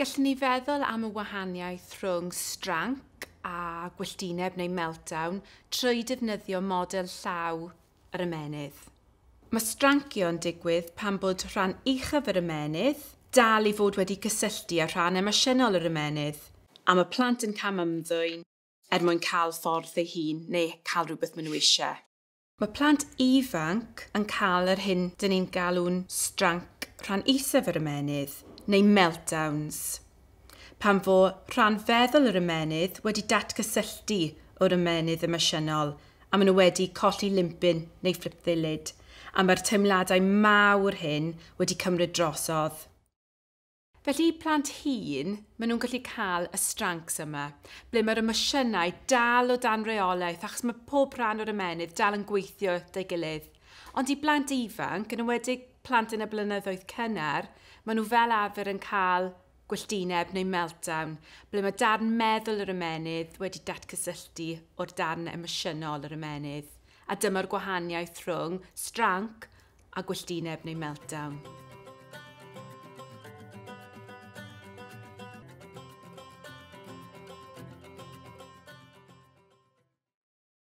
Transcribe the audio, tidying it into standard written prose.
Gallwn ni feddwl am y wahaniaeth rhwng stranc a gwylltineb neu meltdown trwy defnyddio model llaw yr ymennydd. Mae strancio'n digwydd pan bod rhan uchaf yr ymennydd dal i fod wedi cysylltu â rhan emosiynol yr ymennydd, a mae plant yn camymddwyn er mwyn cael ffordd ei hun neu cael rhywbeth maen nhw eisiau. Mae plant ifanc yn cael yr hyn dyn ni'n galw'n stranc rhan isaf yr ymennydd, neu meltdowns, pan fo rhan feddwl yr ymennydd wedi datgysylltu o'r ymennydd emosiynol a maen nhw wedi colli limpyn neu fflip ddilyd, a mae'r teimladau mawr hyn wedi cymryd drosodd. Felly i plant hŷn, maen nhw'n gallu cael y strancs yma, ble mae'r emosiynau dal o dan reolaeth achos mae pob rhan o'r ymennydd dal yn gweithio 'da'i gilydd. Ond i blant ifanc, yn enwedig plant yn y blynyddoedd cynnar, maen nhw fel arfer yn cael gwylltineb neu meltdown, ble mae darn meddwl yr ymennydd wedi datgysylltu o'r darn emosiynol yr ymennydd. A dyma'r gwahaniaeth rhwng stranc a gwylltineb neu meltdown.